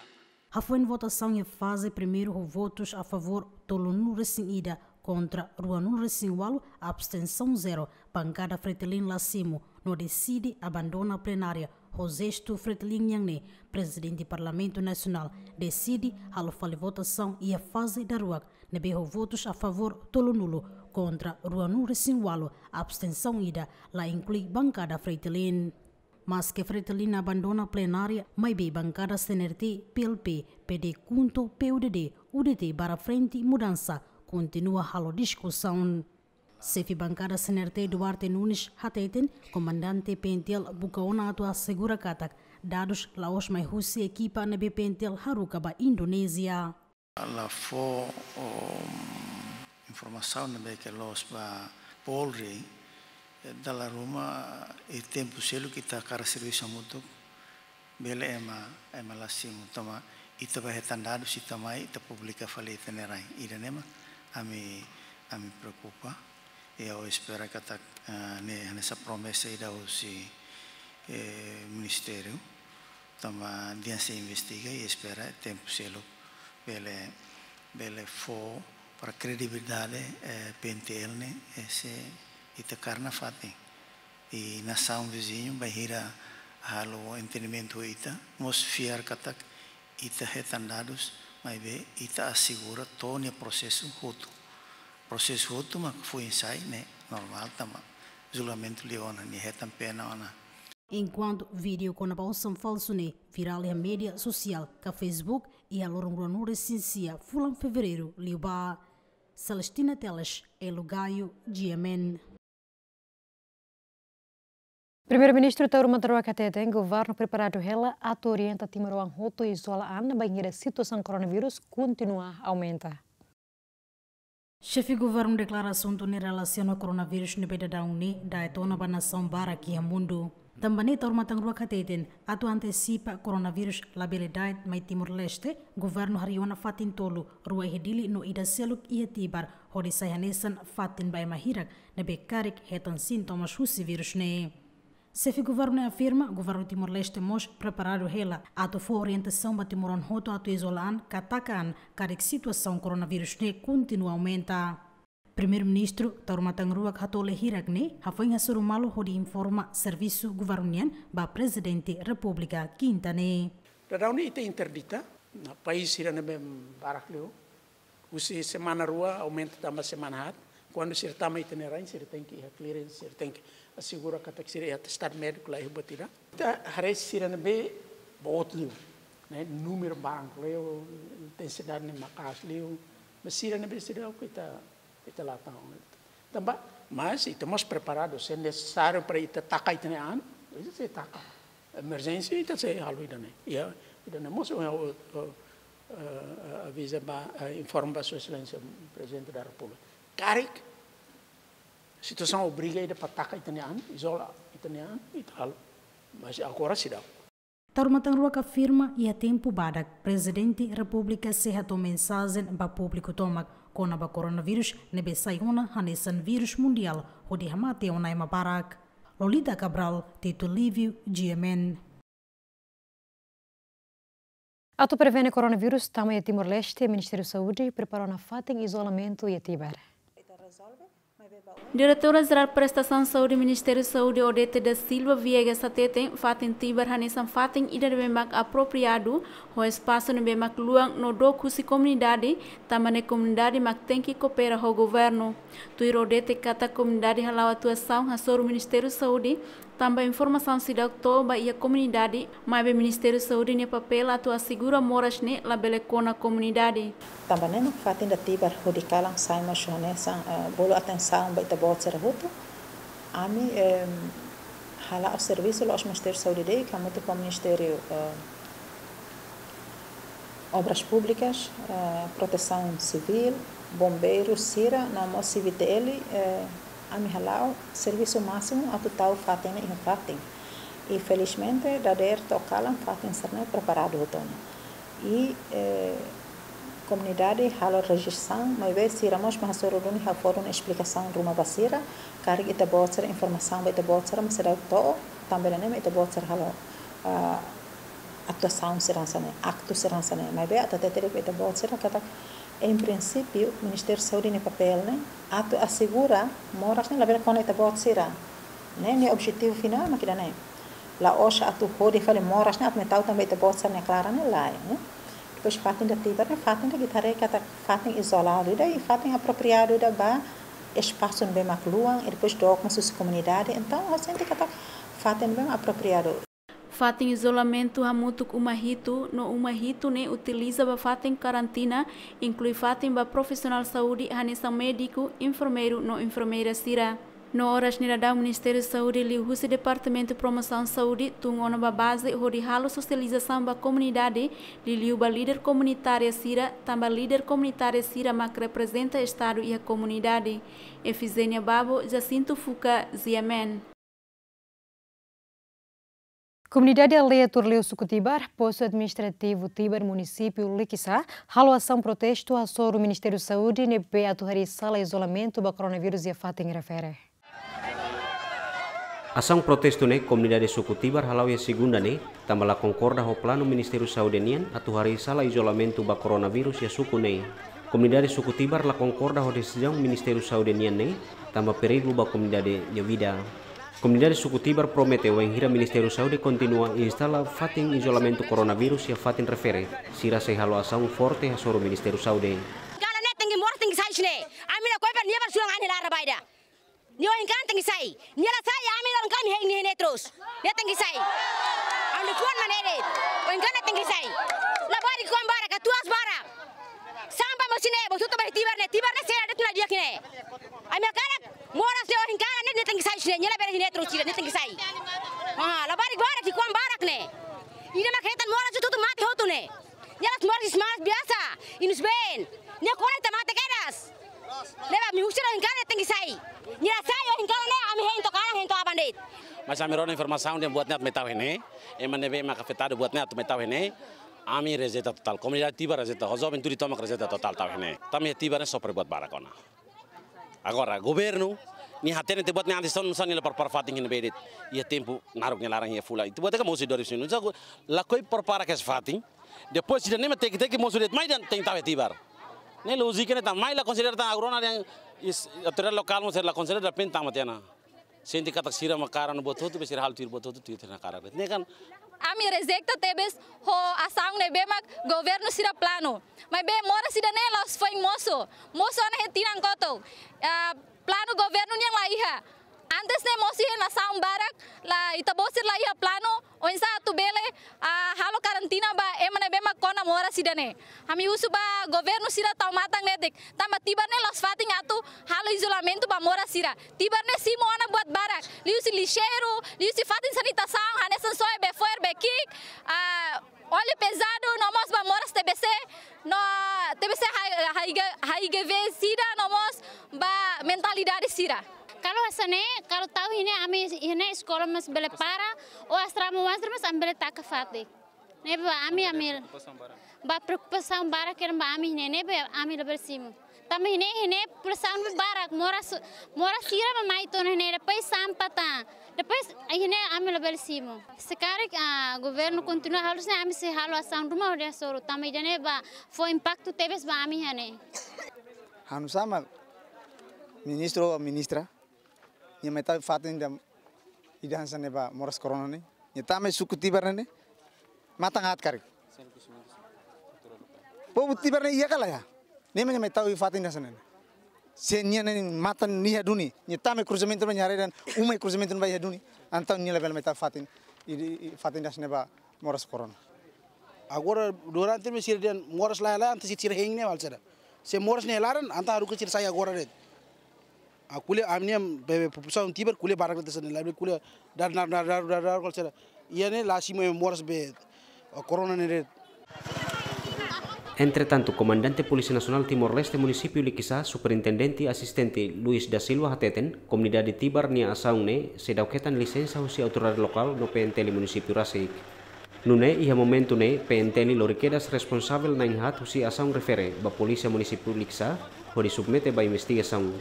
Hafoin votasaun iha faze primeiru ho votus a favór tolunulu resin ida, kontra ruanulu resin walu, abstensaun zero, Bankada Fretilin la simu no deside abandona plenária ho jestu Fretilin nian ne'e, Prezidente Parlamentu Nasionál deside halo fali votasaun iha faze daruak ne'ebé ho votus a favór tolunulu, kontra ruanulu resin walu, abstensaun ida, la inklui Bankada Fretilin. Maske Fretilin abandona plenária, maibé Bankada C N R T, P L P, P D KHUNTO, P U D D, U D T barra Frente Mudança kontinua halo diskusaun. Xefe Bankada C N R T Duarte Nunes hateten, komandante P N T L buka ona atu asegura katak dadus la'ós mai husi ekipa ne'ebé P N T L haruka ba Indonézia. La fó, um, informasaun ne'ebé ke loos ba Polri, eh, dala ruma, eh, tempu seluk ita hakarak servisu hamutuk, bele ema, ema la simu, tanba ita bá hetan dadus, ita mai, ita publika fali ita-nia rai. Ida-ne'e mak ami, ami preokupa. I ha'u espera katak, eh, ne'e hanesan promesa ida husi, eh, ministériu. Tanba dehan sei investiga i espera tempu seluk bele, bele fó para kredibilidade, eh, P N T L ne'e, eh, se ita kaer nafatin. I nasaun viziñu bainhira halo entendimentu ho ita, mós fiar katak ita hetan dadus, maibé ita asegura to'o nia prosesu hotu. Prosesu hotu mak foin sai ne'e normál tanba julgamentu liu ona, nia hetan pena ona. Enkuantu vídeo kona-ba osan falsu ne'e virál iha média sosiál ka Facebook iha loron ruanulu-resin-sia fulan Fevereiru liubá. Celestina Teles, Elo Gaio, G M N. Primeiru-Ministru Taur Matan Ruak hateten governu preparadu hela atu orienta timoroan hotu izola an bainhira situasaun koronavírus kontinua aumenta. Xefe governu deklara asuntu ne'e relasiona koronavírus ne'ebé daudaun ne'e da'et ona ba nasaun barak iha mundu. Tanba ne'e Taur Matan Ruak hateten atu antesipa koronavírus labele da'et mai Timor-Leste, governu harii ona fatin tolu, rua iha Dili no ida seluk iha Tibar, hodi sai hanesan fatin ba ema hirak ne'ebé karik hetan sintomas husi vírus ne'e. Xefe governu ne'e afirma governu Timor-Leste mós preparadu hela atu fó orientasaun ba timoroan hotu atu izola an ka taka an karik situasaun koronavírus ne'e kontinua aumenta. Primeiru-Ministru Taur Matan Ruak hatoleh hirak ne'e hafoin hasoru malu hodi informa servisu governu nian ba Prezidente Repúblika Kinta ne'e. Daudaun ne'e ita interdita, no país sira ne'ebé barak liu, husi semana rua aumenta tama semana haat. Kuandu sira tama ita-nia rain, sira tenke iha clearance, sira tenke asegura katak sira iha atestadu médiku la iha buat ida. Ita haree sira ne'ebé boot liu, ne'e, númeru barak liu, intensidade ne'e maka'as liu, mas sira ne'ebé sira oke ita, ita la tau. Tanba, mas ita mós preparadu, se nesesáriu para ita taka ita-nia an, ita sei taka. Emerjénsia ita sei halo ida-ne'e. Ya, ida-ne'e mós, eh, eh, eh, aviza ba, eh, informa ba Sua Exelénsia Prezidente da Repúblika. Karik situasaun obriga ita para taka ita-nia an, izola ita-nia an, ita halo. Mas agora seidauk. Taur Matan Ruak afirma iha tempu badak Prezidente Repúblika sei hato'o mensajen ba públiku tomak kona-ba koronavírus ne'ebé sai ona hanesan vírus mundiál hodi hamate ona ema barak. Lolita Cabral, Tito Livio, G M N. Atu prevene koronavírus tama iha Timor-Leste, Ministériu Saúde prepara ona fatin izolamentu iha Tibar. Diretora Jerál Prestasaun Saúde Ministériu Saúde, Odete da Silva Viegas, hateten fatin Tibar hanesan fatin ida ne'ebé mak apropriadu, ho espasu ne'ebé mak luan no dook husi komunidade, tanba ne'e komunidade mak tenke koopera ho governu. Tuir Odete katak komunidade hala'o atuasaun hasoru Ministériu Saúde, tanba informasaun seidauk to'o ba iha komunidade, maibé Ministériu Saúde nia papél atu asegura moras ne'e labele kona komunidade. Tanba ne'e mak fatin ida Tibar hodi kalan sai mós hanesan, eh, bolu atensaun ba ita-boot sira hotu. Ami, em, hala'o servisu la'ós Ministériu Saúde de'it, hamutuk ho Ministériu, eh, Obras Públikas, eh, Protesaun Sivíl, Bombeiru sira, no mós C V T L, eh, ami hala'o servisu másimu atu tau fatin ne'e iha fatin. I felizmente, dadeer to'o kalan fatin sira-ne'e preparadu hotu ona. I, eh, komunidade halo rejeisaun, maibé sira mós mak hasoru duni, ha'u fó duni esplikasaun ruma ba sira, karik ita-boot sira, informasaun ba ita-boot sira mak seidauk to'o, tanba ne'e mak ita-boot sira halo, ah, atuasaun sira hanesan ne'e, aktu sira hanesan ne'e. Maibé atu hatete de'it ba ita-boot sira katak, em princípio, Ministériu Saúde nia papél ne'e atu asegura moras ne'e labele kona ita-boot sira. Ne'e nia objetivu finál mak ida-ne'e. La'ós atu hodi fali moras ne'e atu mai tau tanba ita-boot sira-nia klaran ne'e, lae, ne'e. Depois fatin ida Tibar ne'e fatin ida ita haree katak fatin izoladu ida i fatin apropriadu ida ba espasu ne'ebé mak luan i depois dook mós husi komunidade. Entaun, ha'u sente katak fatin ne'ebé mak apropriadu. Fatin izolamentu hamutuk uma hitu, no uma hitu ne'e utiliza ba fatin karantina, inklui fatin ba profisionál saúde hanesan médiku, enfermeiru no enfermeira sira. No oras ne'e daudaun Ministériu Saúde liuhusi Departamentu Promosaun Saúde tun ona ba baze hodi halo sosializasaun ba komunidade, liuliu ba líder komunitária sira, tanba líder komunitária sira mak reprezenta Estadu iha komunidade. Efizénia Babo, Jacinto Fuca, G M N. Komunidade aldeia Turleu, suku Tibar, postu administrativu Tibar, munisípiu Likisá, halo asaun protestu hasoru Ministériu Saúde ne'ebé atu harii sala izolamentu ba koronavírus iha fatin refere. Asaun protestu ne'e komunidade suku Tibar hala'o iha segunda ne'e, tanba la konkorda ho planu Ministériu Saúde nian atu harii sala izolamentu ba koronavírus iha suku ne'e. Komunidade suku Tibar la konkorda ho desizaun Ministériu Saúde nian ne'e, tanba perigu ba komunidade nia vida. Komunidade suku Tibar promete wainhira Ministériu Saúde kontinua instala fatin izolamentu koronavírus iha fatin refere, sira sei halo asaun forte hasoru Ministériu Saúde. Kalan ne'e tenke moras tenke sai husi ne'e. Ami la koi ba Nia ohin kalan tenke sai. Nia la sai, ami loron kalan hein nia iha ne'e terus. Nia tenke sai. Ami-nia fuan mak ne'e de'it. Ohin kalan tenke sai. Labarik ki'ikoan barak, katuas barak. Sampah mós iha ne'e, mós tutu ba Tibar ne'e, Tibar ne'e sira de'it la di'ak iha ne'e. Ami hakarak moras ne'e ohin kalan ne'e, nia tenke sai husi ne'e, nia labele iha ne'e terus sira, nia tenke sai. Ah, labarik barak, ki'ikoan barak ne'e. Ida mak hetan moras tutu mate hotu ne'e. Nia la'ós moras, moras biasa, inus ben. Nia kona ita mate kedas. Ne'ebé ami husu ohin kalan tenke sai. Nia la sai ohin kalan ne'e, ami hein to'o kalan, hein to'o aban de'it. Mas ami rona informasaun dehan buat ne'e atu mai tau iha ne'e. Ema ne'ebé mak afetadu buat ne'e atu mai tau iha ne'e. Ami rejeita totál. Komunidade Tibar rejeita. Ho joven tudu tomak rejeita totál tau iha ne'e. Tanba Tibar ne'e sofre buat barak ona. Agora, governu, nia hatene tiha buat ne'e antes, só nia la prepara fatin iha ne'ebé de'it. Iha tempu naruk nia laran iha fulan. Ita buat ne'e ka mosu dua ribu sembilan belas. Lakohi prepara kedas fatin. Depois, ida-ne'e mak teke-teke mosu de'it mai dehan tenke tau iha Tibar. Ne'e lójika ne'e tan, mai la konsidera tan agora ona dehan is-, autoridade lokál mós la konsidera, depende tan matenek. Sente katak sira mak kaer ona buat hotu, be sira halo tuir buat hotu, tuir tiha ona kaer. Ne'e kan. Ami rejeita tebes ho asaun ne'ebé mak governu sira planu. Maibé moras ida-ne'e la'ós foin mosu. Mosu ona iha tinan kotuk. Ah, planu governu nian la iha. Antes ne'e mosu iha nasaun barak, la ita-boot sira la iha planu, oinsá atu bele, ah, halo karantina ba ema ne'ebé mak kona moras ida-ne'e. Ami husu ba governu sira tau matan netik. Tanba Tibar ne'e la'ós fatin atu halo izolamentu ba moras sira. Tibar ne'e simu ona buat barak. Liuhusi lixeiru, liuhusi fatin sanitasaun, hanesan soe be fo'er be ki'ik, ah, óleu pezadu, no mós ba moras T B C, no T B C H-, H I G, H I G V sida, no mós ba mentalidade sira. Kalau hanesan ne'e, kalau tau iha ne'e ami iha ne'e eskola mós bele para, ou asrama oan sira mós ami bele taka fatin. Ne'ebé ba ami, ami, ba preokupasaun barak kena ba ami ne'e, ne'ebé ami labele simu. Tanba iha ne'e, iha ne'e populasaun barak, moras, moras sira mak mai to'o iha ne'e, depois sampah tan. Depois, iha ne'e ami labele simu. Se karik, ah, governu kontinua halo hanesan ne'e, ami sei halo asaun ruma hodi hasoru. Tanba ida-ne'e ba fó impaktu tebes ba ami iha ne'e. Ha'u hanesan ministru ou ministra, nia mai tau fatin ida, ida hanesan ne'e ba moras korona ne'e. Nia tama iha suku Tibar ne'e. Matan aat karik. Povu Tibar ne'e iha ka la iha? Ne'e mak nia mai tau iha fatin ida hanesan ne'e. Se nia ne'e matan nia iha duni. Nia tama iha kruzamentu ba nia haree dehan uma iha kruzamentu ba iha duni. Entaun nia labele mai tau fatin. I, i, i fatin ida hanesan ne'e ba moras korona. Agora durante ne'e sira dehan moras la iha, la iha, entaun sira, sira hein ne'e halo saida? Se moras ne'e iha laran, entaun haruka sira sai agora de'it. Ah, ko'alia ami-nia be, be, populasaun Tibar ko'alia barak de'it hanesan ne'e, labele ko'alia dar, dar, dar, dar, dar, dar, ko'alia saida. Iha ne'e la simu ema moras be, ah, korona ne'e de'it. Entretantu, Komandante Polísia Nasionál Timor-Leste Munisípiu Likisá, Superintendente Asistente Luis da Silva hateten, komunidade Tibar nia asaun ne'e seidauk hetan lisensa husi autoridade lokál no P N T L munisípiu rasik. Nune'e iha momentu ne'e P N T L lori kedas responsavel na'in-haat husi asaun refere ba Polísia Munisípiu Likisá hodi submete ba investigasaun.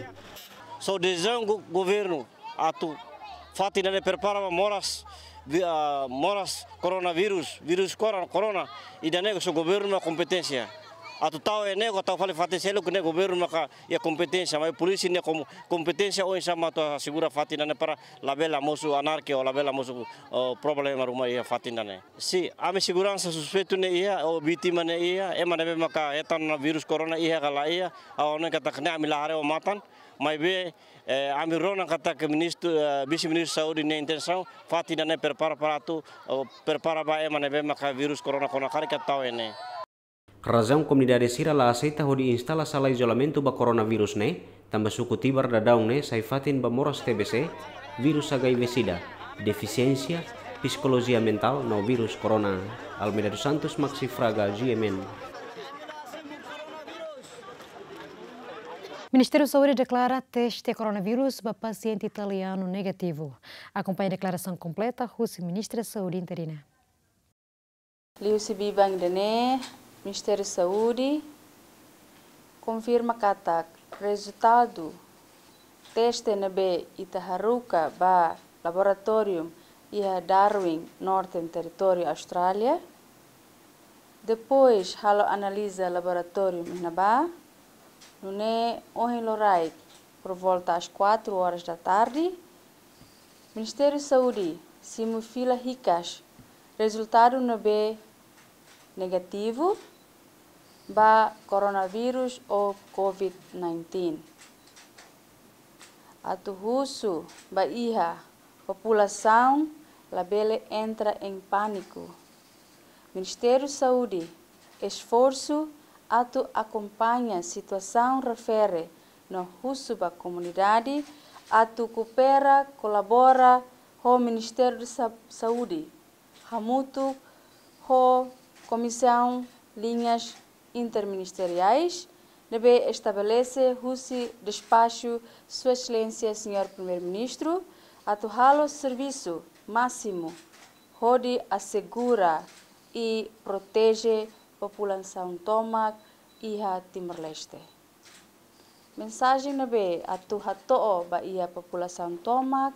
Só desizaun go-, governu atu fatin ida-ne'e prepara ba moras, vi-, ah, moras koronavírus, vírus kora-, korona, ida-ne'e só governu mak kompeténsia. Atu tau iha ne'e, ka tau fali fatin seluk ne'e governu maka iha kompeténsia, maibé polísia nia kom-, kompeténsia oinsá mak atu asegura fatin ida-ne'e para labele mosu anarkia ou labele mosu, oh, problema ruma iha fatin ida-ne'e. Se ami seguransa suspeitu ne'e iha, ou vítima ne'e iha, ema ne'ebé maka hetan vírus korona iha ka la iha, ha'u hanoin katak ne'e ami la haree ho matan, maibé, eh, ami rona katak ministru, eh, vise-ministru saúde nia intensaun, fatin ida-ne'e prepara para atu, oh, prepara ba ema ne'ebé maka vírus korona kona karik atu tau iha ne'e. Razaun komunidade sira la aseita hodi instala sala izolamentu ba koronavírus ne'e, tanba suku Tibar daudaun ne'e sai fatin ba moras T B C, vírus H I V sida, defisiénsia, psikolojia mentál no vírus korona. Almeida dos Santos, Maxi Fraga, G M N. Ministériu Saúde deklara teste koronavírus ba pasiente italianu negativu. Akompaña deklarasaun kompleta husi Ministra Saúde interina. Liuhusi biban ida-ne'e, Ministériu Saúde konfirma katak rezultadu teste ne'ebé ita haruka ba laboratóriu iha Darwin, Northern Territory, Austrália. Depois halo analiza laboratóriu iha ne'ebá, nune'e ohin loraik, por volta às quatro horas da tarde, Ministériu Saúde simu fila hikas rezultadu ne'ebé negativu ba koronavírus ou covid nineteen. Atu husu ba iha populasaun labele entra em pánico. Ministériu Saúde esforsu atu akompaña situasaun refere no husu ba komunidade atu koopera, kolabora ho Ministériu de Sa-, Saúde, hamutuk ho Komisaun Liñas Interministeriais, ne'ebé estabelese husi despaxu Sua Exelénsia Señór Primeiru-Ministru, atu halo servisu másimu hodi asegura i proteje populasaun tomak iha Timor-Leste. Mensajen ne'ebé atu hato'o ba iha populasaun tomak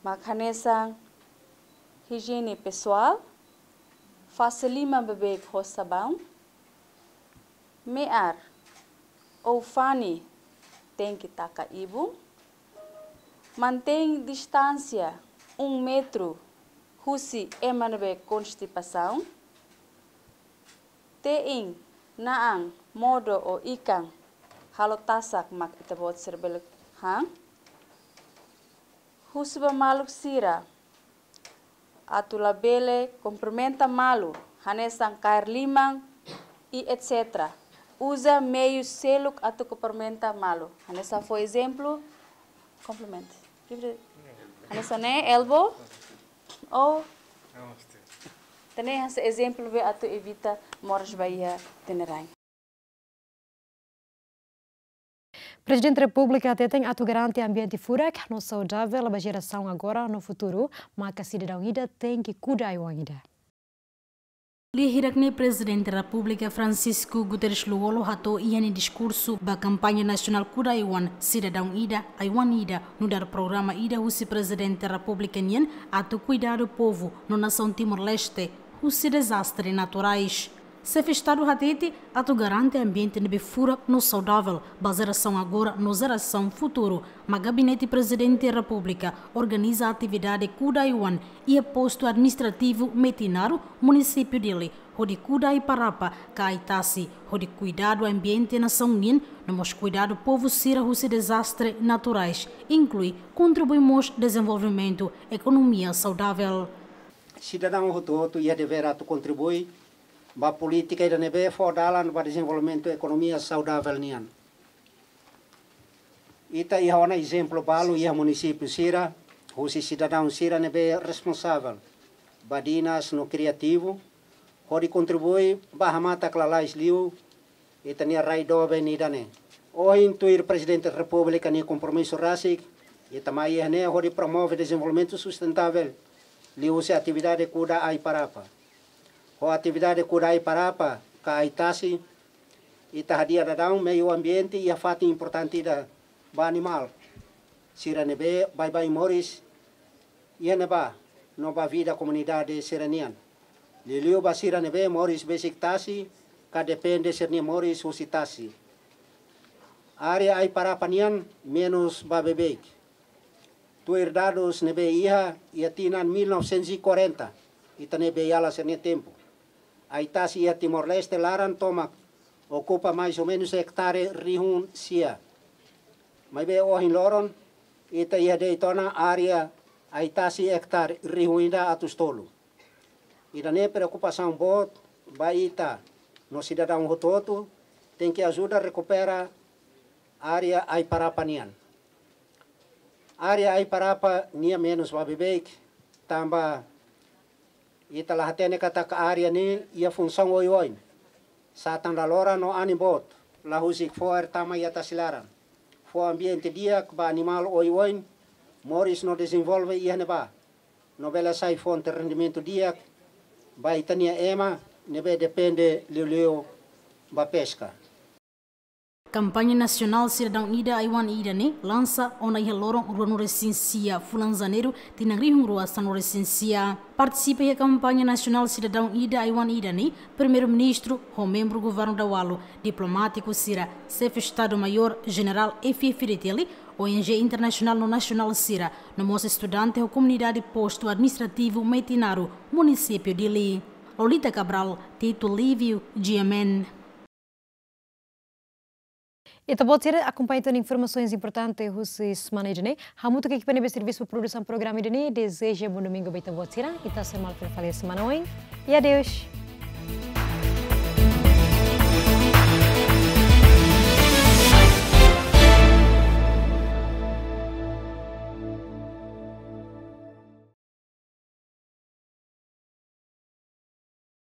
mak hanesan ijiene pesoál, fase liman beibeik ho sabaun, me'ar ou fani tenke taka ibun, mantein distánsia um metru husi ema ne'ebé konstipasaun, te'in na'an modo ou ikan halo tasak mak ita-boot sira bele han. Husu ba maluk sira atu labele kumprimenta malu, hanesan kaer liman i et cetera. Uza meiu seluk atu kumprimenta malu. Hanesan fó ezemplu, kumprimenta. Hanesan ne'e, elbow, ou, ida-ne'e hanesan ezemplu be atu evita moras ba iha ita-nia. Prezidente Repúblika hateten atu garante ambiente furak no saudavel ba jerasaun agora no futuru, maka sidadaun ida tenke kuda ai-oan ida. Lia hirak ne'e Prezidente Repúblika Francisco Guterres Lú-Olo hato'o iha nia diskursu ba kampaña nasionál Kuda Ai-oan, Sidadaun Ida, Ai-oan Ida, nu'udar programa ida husi Prezidente Repúblika nian atu kuidadu povu no nasaun Timor-Leste husi dezastre naturais. Xefe Estadu hatete atu garante ambiente ne'ebé furak no saudavel ba jerasaun agora no jerasaun futuru, mak Gabinete Prezidente Repúblika organiza atividade Kuda Ai-oan iha Postu Administrativu Metinaro, Munisípiu Dili, hodi kuda ai-parapa ka ai-tasi, hodi kuidadu ambiente nasaun nian, no mós kuidadu povu sira husi dezastre naturais, inklui kontribui mós dezenvolvimentu ekonomia saudavel. Sidadaun hotu-hotu iha devér atu kontribui ba polítika ida ne'ebé fó dalan ba dezenvolvimentu ekonomia saudavel nian. Ita iha ona ezemplu balu iha munisípiu sira, husi sidadaun sira ne'ebé responsavel ba dinas no kriativu, hodi kontribui ba hamatak lalais liu ita-nia rai doben ida-ne'e. Ohin tuir Prezidente Repúblika nia kompromisu rasik, ita mai iha ne'e hodi promove dezenvolvimentu sustentável liuhusi atividade kuda ai-parapa. Ho atividade kuda ai-parapa ka ai-tasi, ita hadi'a daudaun meiu ambiente iha fatin importante ida ba animál sira ne'ebé baibain moris iha ne'ebá no ba vida komunidade sira-nian. Liuliu ba sira ne'ebé moris besik tasi ka depende sira-nia moris husi tasi. Área ai-parapa nian menus ba beibeik. Tuir dadus ne'ebé iha, iha tinan mil novecentos e quarenta, ita-nia beiala sira-nia tempu, ai-tasi iha Timor-Leste laran tomak okupa mais ou menus ektare rihun sia. Maibé ohin loron, ita iha de'it ona área ai-tasi ektare rihun ida atus tolu. Ida-ne'e preokupasaun boot ba ita, no sidadaun hotu-hotu tenke ajuda rekupera área ai-parapa nian. Área ai-parapa nian menus ba beibeik, tanba ita la hatene katak área ne'e iha funsaun oioin. Satan laloran no anin boot, la husik fo'er tama iha tasi laran. Fó ambiente di'ak ba animál oioin moris no dezenvolve iha ne'ebá, no bele sai fonte rendimentu di'ak ba ita-nia ema ne'ebé depende liuliu ba peska. Kampaña nasionál Sidadaun Ida, Ai-oan Ida ne'e lansa ona iha loron ruanulu-resin-sia fulan Janeiru, tinan rihun rua sanulu-resin-sia. Partisipa iha kampaña nasionál Sidadaun Ida, Ai-oan Ida ne'e Primeiru-Ministru ho membru Governu Daualu, diplomátiku sira, Xefe Estadu-Maiór Jenerál F F Fretilin, O N G internasionál no nasionál sira, no mós estudante ho komunidade Postu Administrativu Metinaro, Munisípiu Dili. Lolita Cabral, Tito Lívio, G M N. Ita-boot sira akompaña tan informasaun importante husi semana ida-ne'e. Hamutuk ekipa ne'ebé servisu ba produsaun programa ida-ne'e dezeja bom domingu ba ita-boot sira. Ita sei hamutuk fali semana oin. E adeus.